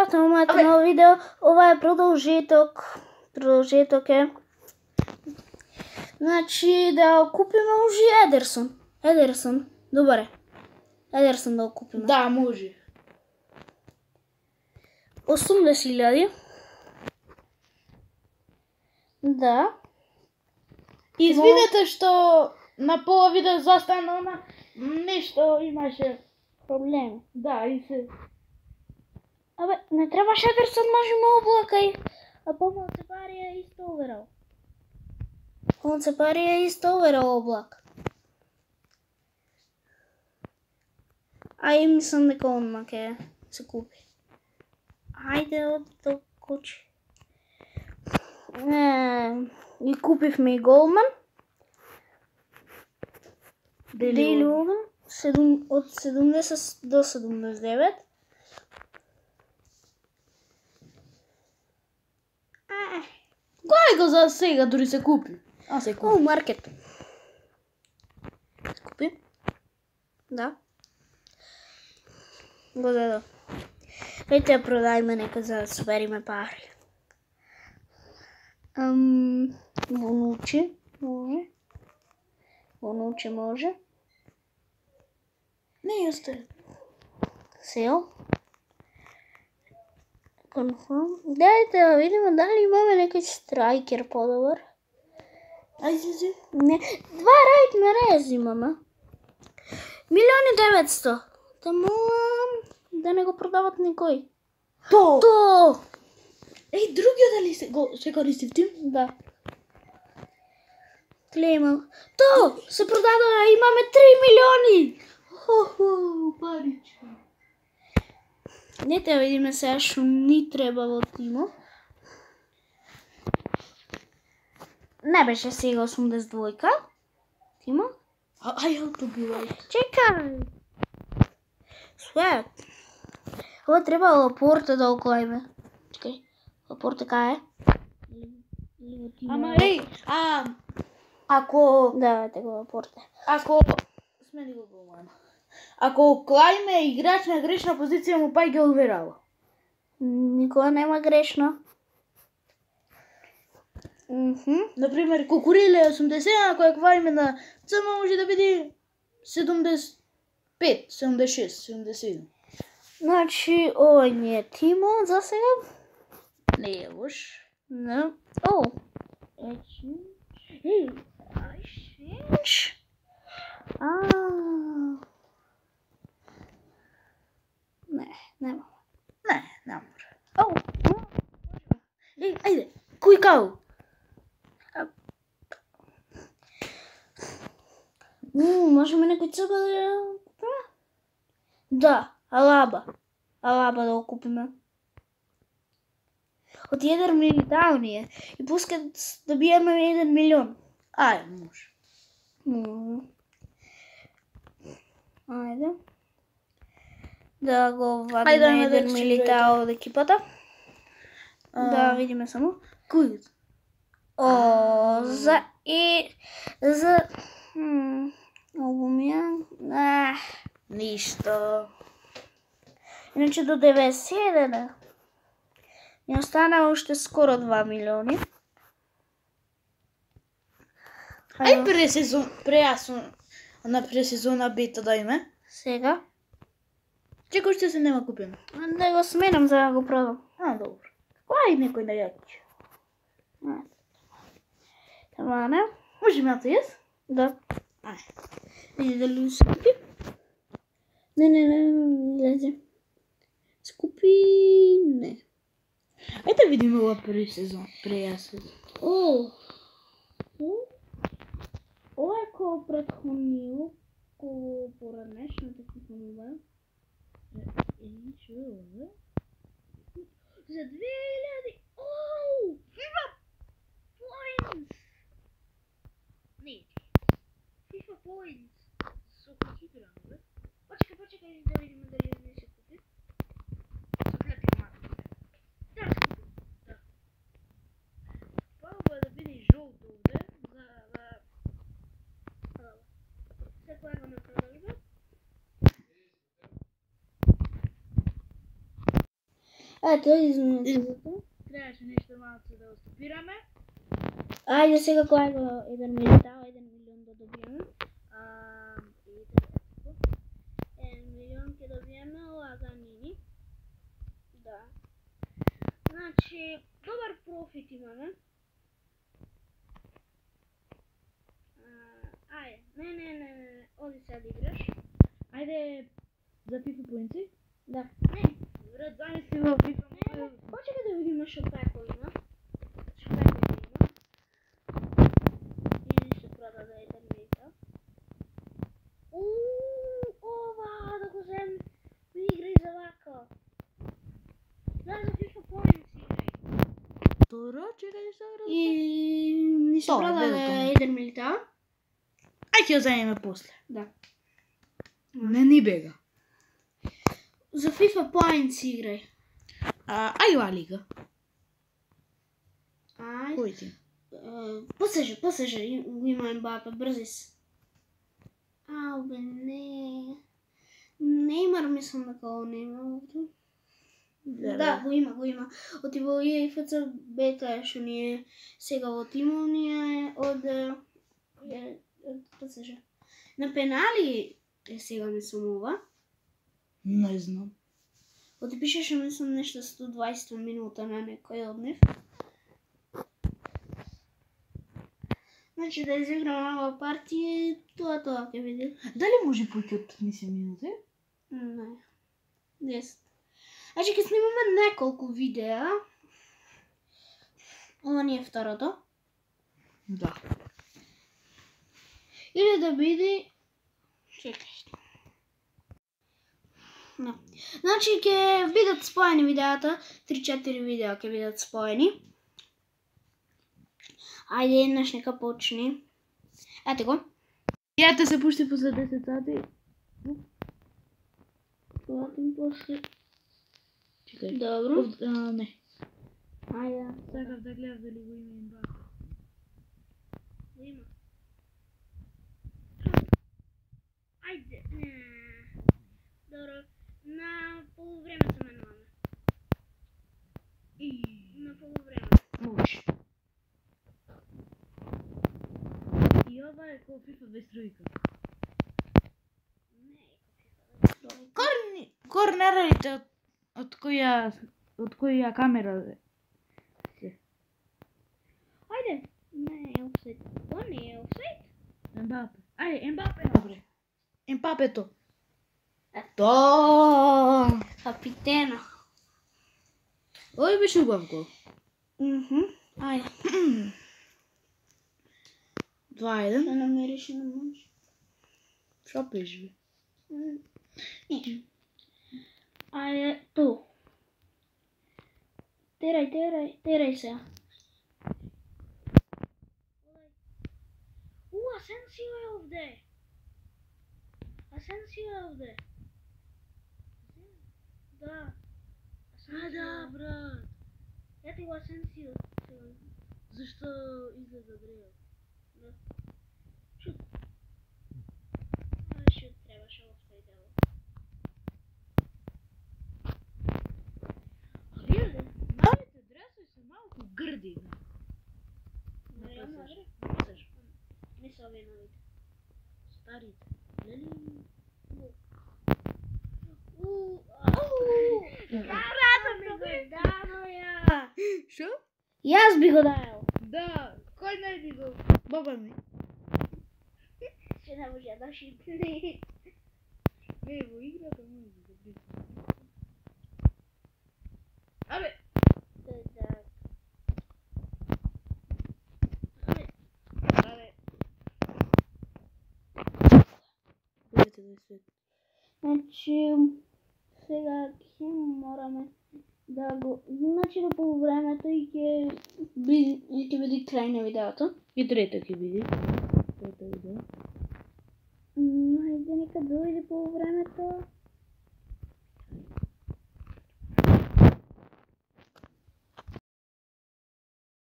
пратам моето ново видео. Ова е продолжеток. Продолжеток е. Значи да купиме може Едерсон. Едерсон, добре. Едерсон да го купиме. Да, може. 80.000. Да. Извинете што на пола видео застана на нешто имаше. Проблеми. Да, и се. Абе, не требаше Едерсон, можеме облака и... А помалце пари е исто уверал. Помалце пари е исто уверал облак. А и мислам дека онма ќе се купи. Ајде од кучи. И купивме и голман. Дели Оган. Од 70 до 79. Кој го за сега дури се купи? А се купи. Маркет. Купи? Да. Го дадо. Хајте ја продајме нека за да собериме пари. Вонучи може. Вонучи може. Не јесте. Сел. Конфирм. Дајте да видиме дали имаме некој страйкер подобар. Ајде. Не, 2 рајт на рез имаме. 1.900.000. Да молам да не го продават никој. То! Еј, другиот дали се користи ти? Да. Клейма. То! Се продадоа, имаме 3 милиони! Хо-хо, парички. Не те видиме сега што ни треба во тимо. Не беше сега 82-ка. Тимо? Ај, автобилај. Чекај! Све. Ова треба Лапорта да оклајме. Чекај. Лапорта кај е? Ама еј, ако... Да, така Лапорта. Ако... Смени го голман. Ако оклајме играч на грешна позиција му пај ги одверава. Никога нема грешно. Например, Кукуриле 80, ако ја квариме на ЦМ може да биде 75, 76, 77. Значи, овој ни е тимо за сега. Не е лош. Не. О! Ей, Exchange. Не, нема. Не, не мора. О! Еј, ајде, кој кау? Можеме некој црба да ја купиме? Да, Алаба. Алаба да го купиме. Од 1 милион е. И пускат добиеме 1 милион. Ајде, може. Ајде. Да го вадиме 1 милитао од екипата. Да видиме само. Кој? За Обумјан. Ништо. Иначе до 91. Ни остана уште скоро 2 милиони. Ај пресезона бета да име. Сега? Чекај уште се нема купено. Да го сменам за да го продам. Добро. Ај некој да ја кучи. Тамане. Може ме јас? Да. Види дали се купи? Не лезе. Скупи, не. Ајде да видиме ова прејасез. Ова е кој претходниот, кој поранешната купнува. Што е ова? За 2000! FIFA Points! Не, FIFA Points! Со кој играм, бе? Почекај да видиме дали не се купи. Согледај малку. Да, се купи. Да. Пробува да биде жолто овде, за да... Секој го не продажба. Ето, изминато. Требаше нешто малку да остопираме. Ајде сега кој го 1 милион, 1 милион да добиеме. 1 милион ќе добиеме лаганини. Да. Значи, добар профит имаме. Ајде, не, оди сега да играш. Ајде за FIFA поинци? Да. Не, Брат, замисли во FIFA. почекај да видиме што пеко има. Што пеко има. Или што продаде еден милион. Ова, да го зем, играј за вака. Да, за FIFA Points играј. Добро, чекај што разберам. И ни се Тоа, продаде гледате. еден милион. Ај ќе ја земеме после. Да. Не ни бега. За FIFA Points играј. Ај ова лига. Ајде. Кој ти? PSG, го има Мбапе, брзис. Бе, не. Неймар мислам дека го нема овде. Да, го има. Оти во ИФЦ бета што ни е сега во тимот ни е од PSG. На пенали е сега мислам ова. Не знам. Оти пишеше мислам нешто 120 минута на некој од нив. Значи да изиграме ова партија, тоа ќе види. Дали може повеќе од 30 минути? Не. 10. Значи ќе снимаме неколку видеа. Ова ни е второто. Да. Или да биде... Чекај. Да. Значи ќе бидат споени видеата, 3-4 видеа ќе бидат споени. Ајде, еднаш нека почни. Ете го. Ја те се пушти после 10 сати. Платим после. Чекај. Добро. Не. Ајде. Сакав да гледам дали го има Мбапе. Го има. Ајде. Добро. На полувреме се менуваме. На полувреме. Може. И ова е како FIFA без тројка. Не е како FIFA. Корнерите од која камера е? Ајде. Не е офсайд. Тоа не е офсайд. Мбапе. Ајде, Мбапе добре. Мбапето. Ето. Капитена. Ој беше убав гол. Ајде. 2-1. Да намериш на може. Шо беше? Ниче. Ајде, ту. Терај се. Асенсио е овде. Да. Да, брат. Ето го Асенсио. Зашто излезе Адриан? Да. Шут. Шут требаше офсайд дело. Гледа, малите дресови се малку грди. Не, На може. пасаж. Не се овие новите. Старите. Лели? Карата ми го дано ја. Шо? Јас би го даел. Да, кој не би го? Баба ми. Че не може да шипне. Не, во играта може да би. Абе, абе. Дайте да свет. Значи, сега ќе мораме да го... Значи до полувремето и ќе биде крај на видеото. И трета ќе биде. Трета видео. Ајде нека дојде полувремето.